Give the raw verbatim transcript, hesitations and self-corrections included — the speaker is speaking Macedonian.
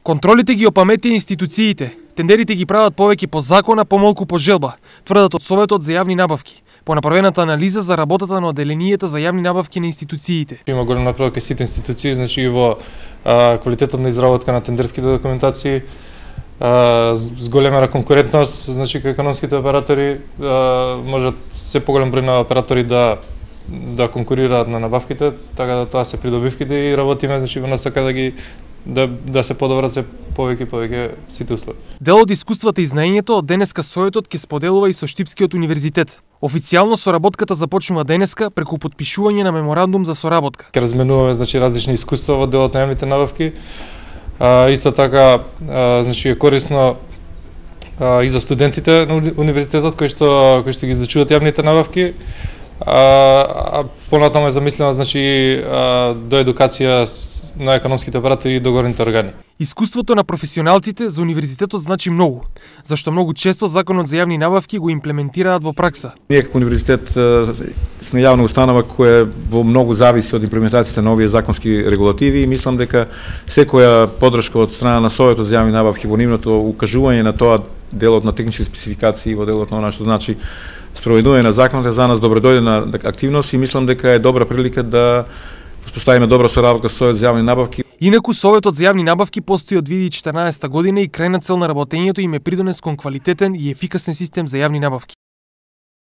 Контролите ги опаметија институциите. Тендерите ги прават повеќе по закон, а помалку по желба, тврдат од Советот за јавни набавки, по направената анализа за работата на оделенијата за јавни набавки на институциите. Има голем напредок кај сите институции, значи и во а, квалитетот на изработка на тендерските документации, а, с големера конкурентност, значи кај економските оператори а, можат се поголем број на оператори да да конкурираат на набавките, така да тоа се придобивките и работиме значи во насока да ги да да се подобрат се повеќе и повеќе сите услови. Дел од искуствата и знаењето од денеска Советот ќе споделува и со Штипскиот универзитет. Официјално соработката започнува денеска преку потпишување на меморандум за соработка. Ке разменуваме значи различни искуства во делот на јавните набавки. А, исто така а, значи е корисно а, и за студентите на универзитетот кои што кои што ги изучуваат јавните набавки. А, а понатаму е замислено значи а, до едукација на економските оператори и договорните органи. Искуството на професионалците за универзитетот значи многу, зашто многу често законот за јавни набавки го имплементираат во пракса. Ние како универзитет сме јавна установа која во многу зависи од имплементацијата на овие законски регулативи и мислам дека секоја подршка од страна на Советот за јавни набавки во нивното укажување на тоа делот на технички спецификации во делот на она што значи спроведување на законот е за нас добродојдена активност и мислам дека е добра прилика да успоставиме добра соработка со Советот за јавни набавки. Инаку Советот за јавни набавки постои од две илјади и четрнаесетта година и крајна цел на работењето им е придонес кон квалитетен и ефикасен систем за јавни набавки.